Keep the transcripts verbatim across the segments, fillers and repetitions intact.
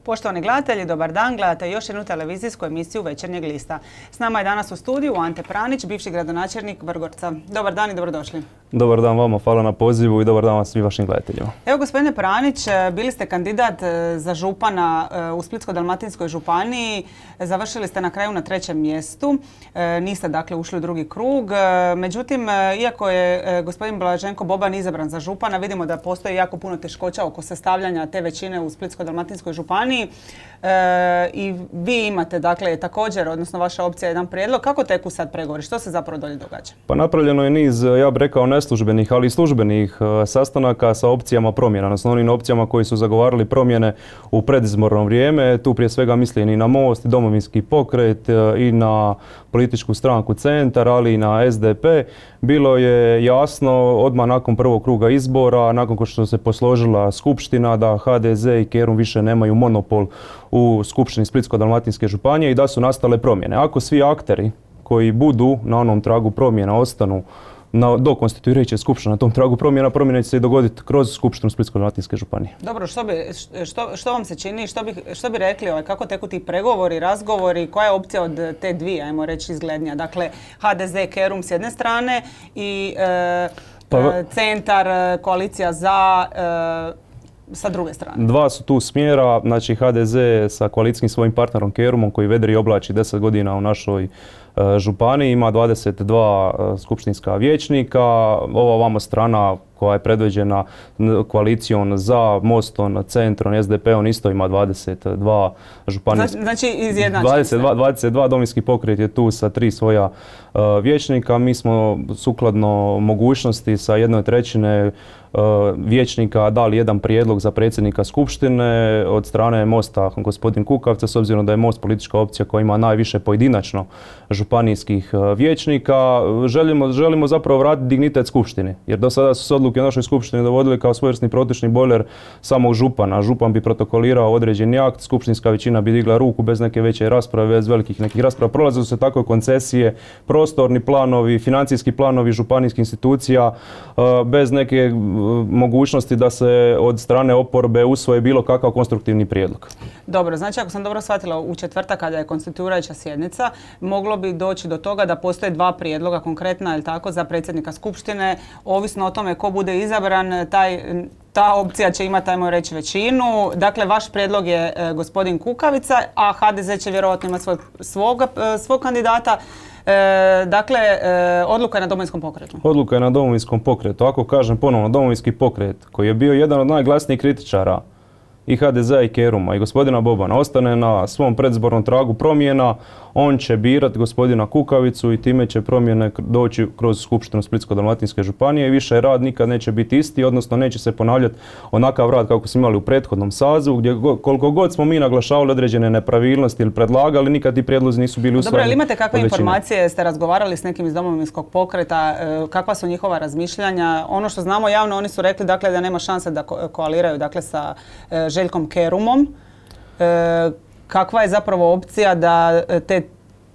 Poštovani gledatelji, dobar dan, gledate još jednu televizijsku emisiju Večernjeg lista. S nama je danas u studiju Ante Pranić, bivši gradonačelnik Vrgorca. Dobar dan i dobrodošli. Dobar dan vama, hvala na pozivu i dobar dan vam svim vašim gledateljima. Evo, gospodine Pranić, bili ste kandidat za župana u Splitsko-dalmatinskoj županiji. Završili ste na kraju na trećem mjestu. Niste dakle ušli u drugi krug. Međutim, iako je gospodin Blaženko Boban izabran za župana, vidimo da postoji jako puno teškoća oko sastavljanja te većine u Splitsko-dalmatinskoj županiji. E, I vi imate dakle također, odnosno vaša opcija, jedan prijedlog. Kako teku sad pregovori? Što se zapravo dolje događa? Pa napravljeno je niz, ja bih rekao, neslužbenih, ali i službenih sastanaka sa opcijama promjena, odnosno onim opcijama koji su zagovarali promjene u predizborno vrijeme. Tu prije svega mislim i na Most, i Domovinski pokret, i na političku stranku Centar, ali i na S D P. Bilo je jasno odmah nakon prvog kruga izbora, nakon što se posložila skupština, da H D Z i Kerum više nemaju monopol u skupštini Splitsko-dalmatinske županije i da su nastale promjene. Ako svi akteri koji budu na onom tragu promjena ostanu Na, do konstituirajuće skupštine na tom tragu promjena, promjene će se i dogoditi kroz skupštinu Splitsko-dalmatinske županije. Dobro, što, bi, što, što vam se čini, što bi, što bi rekli, ovaj, kako teku ti pregovori, razgovori, koja je opcija od te dvije, ajmo reći, izglednija? Dakle, H D Z, Kerum s jedne strane i e, pa, Centar, koalicija za... E, sa druge strane. Dva su tu smjera, znači H D Z sa koalicijskim svojim partnerom Kerumom koji vedri i oblači deset godina u našoj e, županiji, ima dvadeset dva e, skupštinska vijećnika. Ova vamo strana koja je predvođena koalicijom za Mostom, Centrom, S D P-om isto ima dvadeset dva županijska. Znači izjednačeni. dvadeset dva, dvadeset dva Domovinski pokret je tu sa tri svoja uh, vijećnika. Mi smo sukladno mogućnosti sa jednoj trećine uh, vijećnika dali jedan prijedlog za predsjednika skupštine od strane Mosta gospodin Kukavca, s obzirom da je Most politička opcija koja ima najviše pojedinačno županijskih uh, vijećnika. Želimo, želimo zapravo vratiti dignitet skupštini, jer do sada su se odluke u našoj skupštini dovodili kao svojevrsni protočni bojler samog župana. Župan bi protokolirao određeni akt, skupštinska većina bi digla ruku bez neke veće rasprave, bez velikih nekih rasprava. Prolazili su se tako koncesije, prostorni planovi, financijski planovi županijskih institucija, bez neke mogućnosti da se od strane oporbe usvoje bilo kakav konstruktivni prijedlog. Dobro, znači ako sam dobro shvatila, u četvrtak kada je konstituirajuća sjednica, moglo bi doći do toga da postoje dva prijedloga konkretna, ili tako, za predsjednika skupštine, ovisno o tome ko bude izabran, taj, ta opcija će imati, ajmo reći, većinu. Dakle, vaš prijedlog je e, gospodin Kukavica, a H D Z će vjerojatno imati svoj, svog, e, svog kandidata. E, dakle, e, odluka je na Domovinskom pokretu. Odluka je na Domovinskom pokretu. Ako kažem ponovno, Domovinski pokret, koji je bio jedan od najglasnijih kritičara i H D Z i Keruma i gospodina Bobana, ostane na svom predizbornom tragu promjena, on će birati gospodina Kukavicu i time će promjene doći kroz skupštinu Splitsko-dalmatinske županije i više rad nikad neće biti isti, odnosno neće se ponavljati onakav rad kako smo imali u prethodnom sazivu, gdje koliko god smo mi naglašavali određene nepravilnosti ili predlagali, nikad ti prijedlozi nisu bili usvojeni. Dobro, ali imate kakve informacije, ste razgovarali s nekim iz Domovinskog pokreta, kakva su njihova razmišljanja? Ono što znamo javno, oni su rekli dakle, da nema šanse da ko koaliraju dakle, sa Željkom Kerumom. E, kakva je zapravo opcija da te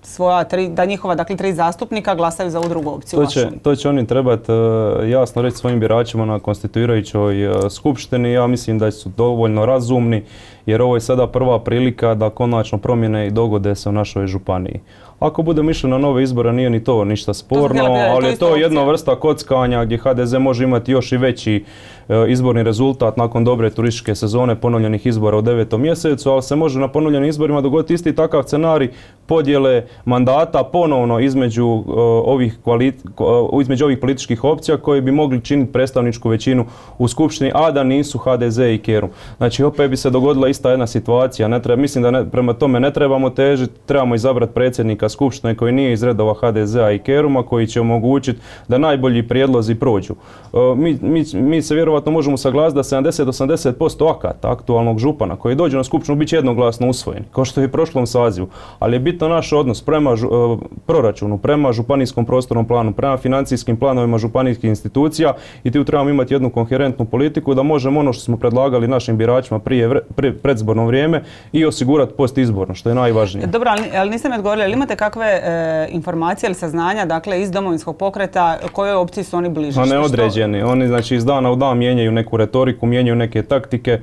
svoja tri, da njihova dakle tri zastupnika glasaju za ovu drugu opciju? To će, to će oni trebati uh, jasno reći svojim biračima na konstituirajućoj uh, skupštini. Ja mislim da su dovoljno razumni, jer ovo je sada prva prilika da konačno promjene i dogode se u našoj županiji. Ako budemo išli na nove izbore, nije ni to ništa sporno, ali je to jedna vrsta kockanja gdje H D Z može imati još i veći e, izborni rezultat nakon dobre turističke sezone, ponovljenih izbora u devetom mjesecu, ali se može na ponovljenim izborima dogoditi isti takav scenarij podjele mandata ponovno između, uh, ovih, uh, između ovih političkih opcija koji bi mogli činiti predstavničku većinu u skupštini, a da nisu H D Z i Kerum. Znači opet bi se dogodila ista jedna situacija. Ne treba, mislim da ne, prema tome ne trebamo težiti, trebamo izabrati predsjednika skupštine koji nije iz redova H D Z-a i Keruma, koji će omogućiti da najbolji prijedlozi prođu. Uh, mi, mi, mi se vjerovatno možemo saglasiti da sedamdeset do osamdeset posto akata aktualnog župana koji dođe na skupštinu bit će jednoglasno usvojen, kao što je i u prošlom sazivu. Ali je bitno naš odnos prema žu, uh, proračunu, prema županijskom prostornom planu, prema financijskim planovima županijskih institucija i tu trebamo imati jednu koherentnu politiku da možemo ono što smo predlagali našim biračima prije vre, pre, predzborno vrijeme i osigurati postizborno, što je najvažnije. Dobro, ali, ali niste mi odgovorili, ali imate kakve e, informacije ili saznanja, dakle, iz Domovinskog pokreta, kojoj opciji su oni bliži? A neodređeni. Oni, znači, iz dana u dan mijenjaju neku retoriku, mijenjaju neke taktike.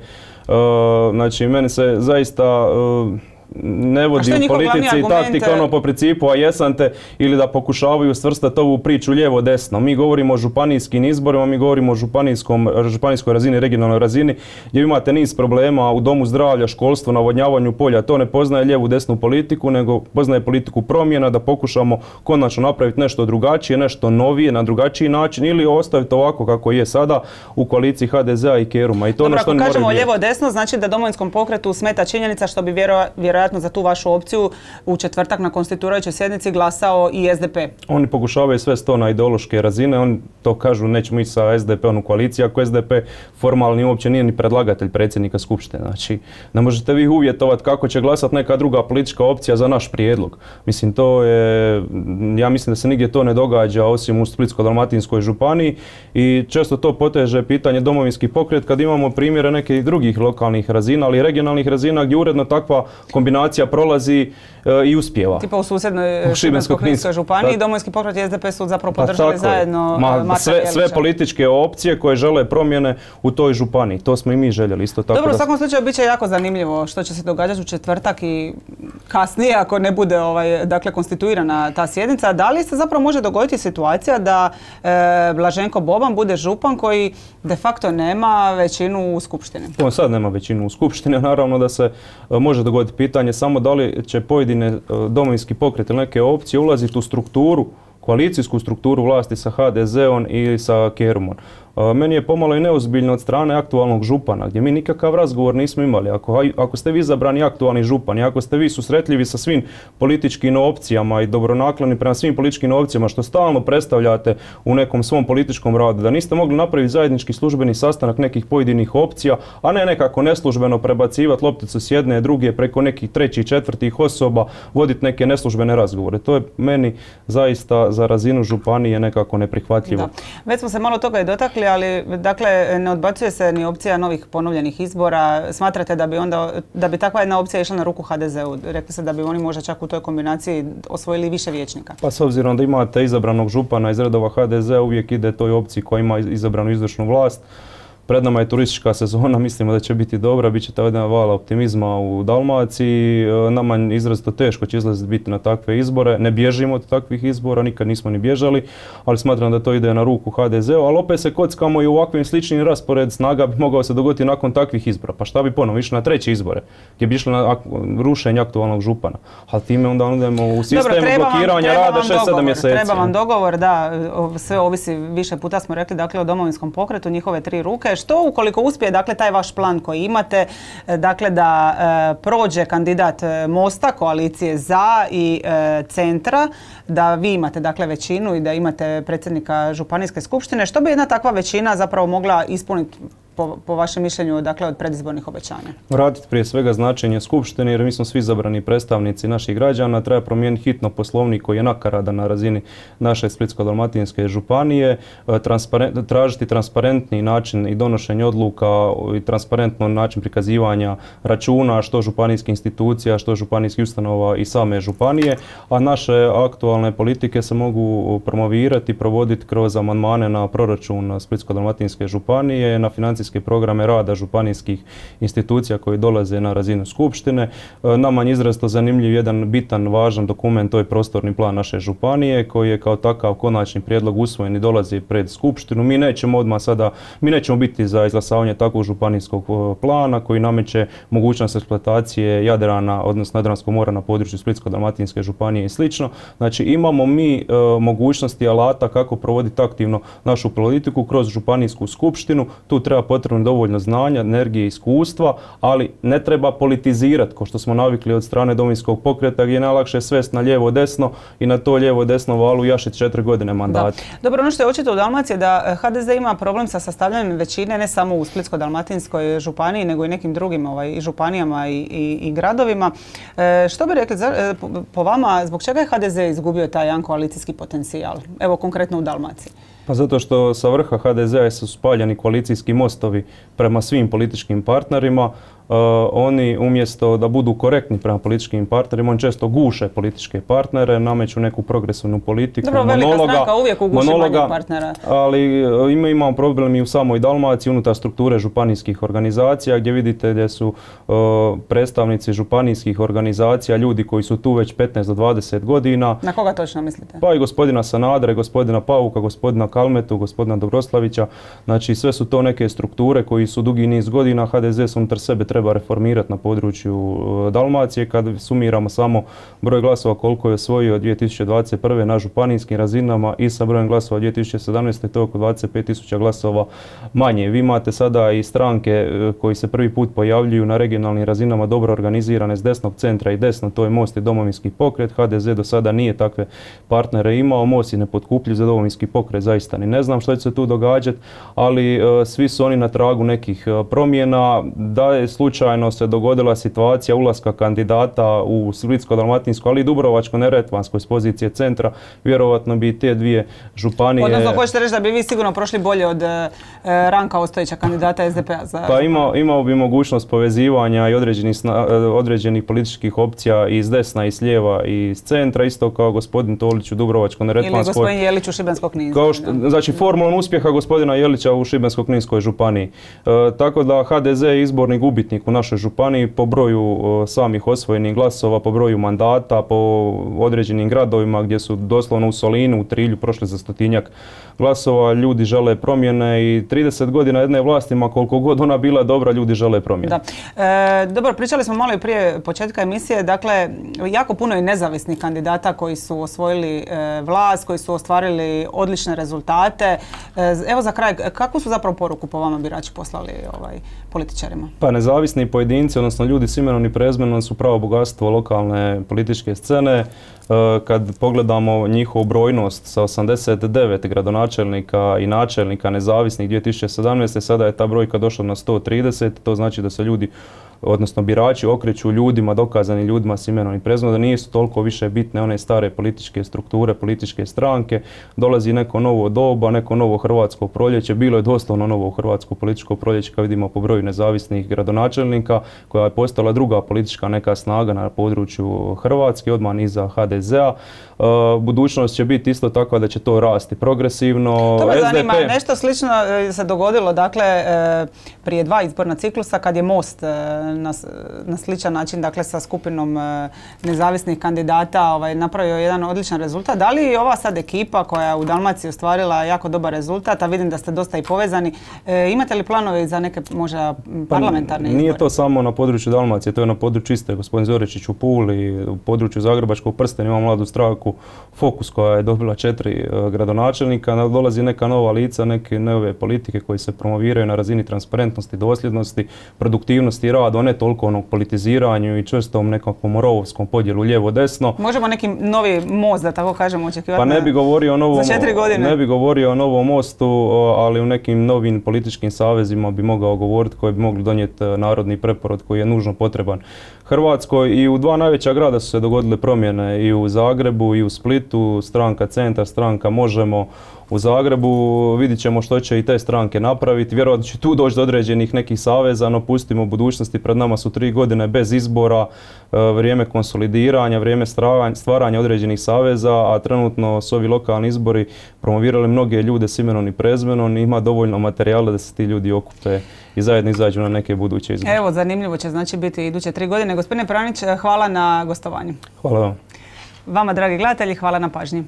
Znači, meni se zaista ne vodi u politici i taktika ono po principu, a jesam te, ili da pokušavaju svrstati ovu priču lijevo-desno. Mi govorimo o županijskim izborima, mi govorimo o županijskoj razini, regionalnoj razini, gdje imate niz problema u domu zdravlja, školstvu, navodnjavanju polja. To ne poznaje lijevu-desnu politiku, nego poznaje politiku promjena, da pokušamo konačno napraviti nešto drugačije, nešto novije, na drugačiji način, ili ostaviti ovako kako je sada u koaliciji ha de zea i Keruma. I to Dobro, ono što ako kažemo lijevo-desno, znači da Domovinskom pokretu smeta činjenica što bi vjerojatno za tu vašu opciju u četvrtak na konstituirajućoj sjednici glasao i es de pe. Oni pokušavaju sve sto na ideološke razine, oni to kažu nećemo ići sa es de peom u koaliciji, ako es de pe formalni uopće nije ni predlagatelj predsjednika skupštine. Znači, ne možete vi uvjetovati kako će glasati neka druga politička opcija za naš prijedlog. Mislim, to je, ja mislim da se nigdje to ne događa osim u Splitsko-dalmatinskoj županiji i često to poteže pitanje Domovinski pokret kad imamo primjere nekih drugih lokalnih razina, ali i regionalnih razina gdje uredno takva kombinacija prolazi e, i uspjeva. Tipa u susjednoj Šibensko-kninskoj županiji, Domovinski pokret i es de pe su zapravo podržali pa zajedno Ma, sve, sve političke opcije koje žele promjene u toj županiji. To smo i mi željeli isto tako. Dobro, u svakom slučaju bit će jako zanimljivo što će se događati u četvrtak i kasnije ako ne bude ovaj, dakle, konstituirana ta sjednica. Da li se zapravo može dogoditi situacija da e, Blaženko Boban bude župan koji de facto nema većinu u skupštini? On sad nema većinu u skupštini, naravno da se e, može dogoditi pitanje samo da li će pojedine e, Domovinski pokret ili neke opcije ulaziti u strukturu, koalicijsku strukturu vlasti sa ha de zeom i sa Kerumom. Meni je pomalo i neozbiljno od strane aktualnog župana, gdje mi nikakav razgovor nismo imali. Ako, ako ste vi izabrani aktualni župan i ako ste vi susretljivi sa svim političkim opcijama i dobronakloni prema svim političkim opcijama što stalno predstavljate u nekom svom političkom radu, da niste mogli napraviti zajednički službeni sastanak nekih pojedinih opcija, a ne nekako neslužbeno prebacivati lopticu s jedne, druge preko nekih trećih, četvrtih osoba, voditi neke neslužbene razgovore. To je meni zaista za razinu županije nekako neprihvatljivo. Da. Već smo se malo toga i dotakli, ali dakle ne odbacuje se ni opcija novih ponovljenih izbora. Smatrate da bi onda, da bi takva jedna opcija išla na ruku ha de zeu? Rekli ste da bi oni možda čak u toj kombinaciji osvojili više vijećnika. Pa s obzirom da imate izabranog župana iz redova ha de zea, uvijek ide toj opciji koja ima izabranu izvršnu vlast. Pred nama je turistička sezona, mislimo da će biti dobra, bit će ta jedna vala optimizma u Dalmaciji. Nama je izrazito teško će izlaziti biti na takve izbore. Ne bježimo od takvih izbora, nikad nismo ni bježali, ali smatram da to ide na ruku ha de zeu, ali opet se kockamo i u ovakvim sličnim raspored snaga bi mogao se dogoditi nakon takvih izbora. Pa šta bi ponovo išli na treće izbore, gdje bi išli na rušenje aktualnog župana. Ali time onda idemo u sistemu blokiranja rada šest sedam mjeseci. Treba vam dogovor, da, sve ovisi, više puta smo rekli, dakle, o Domovinskom pokretu, njihove tri ruke. Što ukoliko uspije, dakle, taj vaš plan koji imate, dakle, da e, prođe kandidat Mosta, koalicije za i e, Centra, da vi imate, dakle, većinu i da imate predsjednika županijske skupštine, što bi jedna takva većina zapravo mogla ispuniti po, po vašem mišljenju, dakle, od predizbornih obećanja? Vratiti prije svega značenje skupštine, jer mi smo svi izabrani predstavnici naših građana. Treba promijeniti hitno poslovnik koji je nakaradan na razini naše Splitsko-dalmatinske županije, transparent, tražiti transparentni način i donošenje odluka i transparentno način prikazivanja računa, što županijskih institucija, što županijskih ustanova i same županije, a naše aktualne politike se mogu promovirati i provoditi kroz amandmane na proračun Splitsko-dalmatinske županije, na financijske programe rada županijskih institucija koji dolaze na razinu skupštine. Nama je izrazito zanimljiv jedan bitan, važan dokument, to je prostorni plan naše županije koji je kao takav konačni prijedlog usvojen i dolazi pred skupštinu. Mi nećemo odmah sada, mi nećemo biti za izglasavanje takvog županijskog plana koji nameće mogućnost eksploatacije Jadrana, odnosno Jadranskog mora na području Splitsko-dalmatinske županije i slično. Znači imamo mi e, mogućnosti alata kako provoditi aktivno našu politiku kroz županijsku skupštinu. Tu treba potrebno dovoljno znanja, energije i iskustva, ali ne treba politizirati, kao što smo navikli od strane Domovinskog pokreta, gdje je najlakše svest na lijevo-desno i na to lijevo-desno valu jašiti četiri godine mandata. Dobro, ono što je očito u Dalmaciji je da ha de ze ima problem sa sastavljanjem većine ne samo u Splitsko-dalmatinskoj županiji, nego i nekim drugim ovaj, i županijama i, i, i gradovima. E, što bi rekli, za, po, po vama, zbog čega je ha de ze izgubio taj jedan koalicijski potencijal? Evo, konkretno u Dalmaciji. Pa zato što sa vrha ha de zea su spaljeni koalicijski mostovi prema svim političkim partnerima. oni umjesto da budu korektni prema političkim partnerima, oni često guše političke partnere, nameću neku progresivnu politiku, Dobro, velika monologa, stranka uvijek uguši monologa, manjeg partnera. Ali ima, imamo problem i u samoj Dalmaciji unutar strukture županijskih organizacija gdje vidite gdje su uh, predstavnici županijskih organizacija, ljudi koji su tu već petnaest do dvadeset godina. Na koga točno mislite? Pa i gospodina Sanadera, gospodina Pauka, gospodina Kalmetu, gospodina Dobroslavića. Znači sve su to neke strukture koji su dugi niz godina. H D Z se unutar sebe treba reformirati na području Dalmacije. Kad sumiramo samo broj glasova koliko je osvojio dvije tisuće dvadeset prve na županijskim razinama i sa brojem glasova dvije tisuće sedamnaeste to je oko dvadeset pet tisuća glasova manje. Vi imate sada i stranke koji se prvi put pojavljuju na regionalnim razinama dobro organizirane s desnog centra i desno, to je Most i Domovinski pokret. H D Z do sada nije takve partnere imao, Most je nepotkupljiv, za Domovinski pokret zaista ni ne znam što će se tu događati, ali uh, svi su oni na tragu nekih uh, promjena. Da je slučajno se dogodila situacija ulaska kandidata u Splitsko-dalmatinsko, ali i Dubrovačko-neretvansko iz pozicije centra, vjerovatno bi te dvije županije... Odnosno, hoćete reći da bi vi sigurno prošli bolje od uh, Ranka Ostojića, kandidata S D P-a za... Pa ima, imao bi mogućnost povezivanja i određenih, određenih političkih opcija iz desna i s lijeva i iz centra, isto kao gospodin Tolić u Dubrovačko-neretvanskoj. Ili gospodin Jelić u Šibensko-kninskoj. Kao što, znači formulom uspjeha gospodina Jelića u Šibensko-kninskoj županiji. E, tako da H D Z je izborni gubitnik u našoj županiji po broju e, samih osvojenih glasova, po broju mandata, po određenim gradovima gdje su doslovno u Solinu, u Trilju prošli za stotinjak glasova. Ljudi žele promjene i trideset godina jedne vlasti, ma koliko god ona bila dobra, ljudi žele promjene. Da. E, dobro, pričali smo malo i prije početka emisije, dakle, jako puno je nezavisnih kandidata koji su osvojili e, vlast, koji su ostvarili odlične rezultate. E, evo za kraj, kakvu su zapravo poruku po vama birači poslali ovaj, političarima? Pa nezavisni pojedinci, odnosno ljudi s imenom i prezimenom su pravo bogatstvo lokalne političke scene. Kad pogledamo njihovu brojnost sa osamdeset devet gradonačelnika i načelnika nezavisnih dvije tisuće sedamnaeste. sada je ta brojka došla na sto trideset, to znači da se ljudi, odnosno birači, okreću ljudima, dokazanim ljudima s imenom i prezimenom, da nisu toliko više bitne one stare političke strukture, političke stranke. Dolazi neko novo doba, neko novo hrvatsko proljeće. Bilo je doslovno novo hrvatsko političko proljeće, kad vidimo po broju nezavisnih gradonačelnika, koja je postala druga politička neka snaga na području Hrvatske, odmah iza H D Z-a. Budućnost će biti isto takva da će to rasti progresivno. To me zanima, nešto slično se dogodilo, dakle, prije dva izborna ciklusa, kad je Most na, na sličan način, dakle, sa skupinom nezavisnih kandidata ovaj, napravio jedan odličan rezultat. Da li ova sad ekipa koja je u Dalmaciji ostvarila jako dobar rezultat, a vidim da ste dosta i povezani, e, imate li planove za neke možda parlamentarne izbore? Nije to samo na području Dalmacije, to je na području iste. Gospodin Zoričić u Puli, u području Zagrebačkog prstena imamo mladu stranku Fokus koja je dobila četiri gradonačelnika. Dolazi neka nova lica, neke nove politike koji se promoviraju na razini transparentnosti, dosljednosti, produktivnosti i rada, ne toliko onog politiziranju i čvrstom nekakvom rovovskom podjelu lijevo-desno. Možemo neki novi most, da tako kažemo, očekivati pa ne bi govorio o novom, za četiri godine? Ne bi govorio o novom mostu, ali u nekim novim političkim savezima bi mogao govoriti koji bi mogli donijeti narodni preporod koji je nužno potreban Hrvatskoj. I u dva najveća grada su se dogodile promjene, i u Zagrebu i u Splitu, stranka Centar, stranka Možemo. U Zagrebu vidjet ćemo što će i te stranke napraviti. Vjerojatno će tu doći do određenih nekih saveza, no pustimo budućnosti. Pred nama su tri godine bez izbora, vrijeme konsolidiranja, vrijeme stvaranja određenih saveza, a trenutno su ovi lokalni izbori promovirali mnoge ljude s imenom i prezimenom. Ima dovoljno materijala da se ti ljudi okupe i zajedno izađu na neke buduće izbore. Evo, zanimljivo će znači biti iduće tri godine. Gospodine Pranić, hvala na gostovanju. Hvala vam. Vama, dragi gledatelji, hvala na pažnji.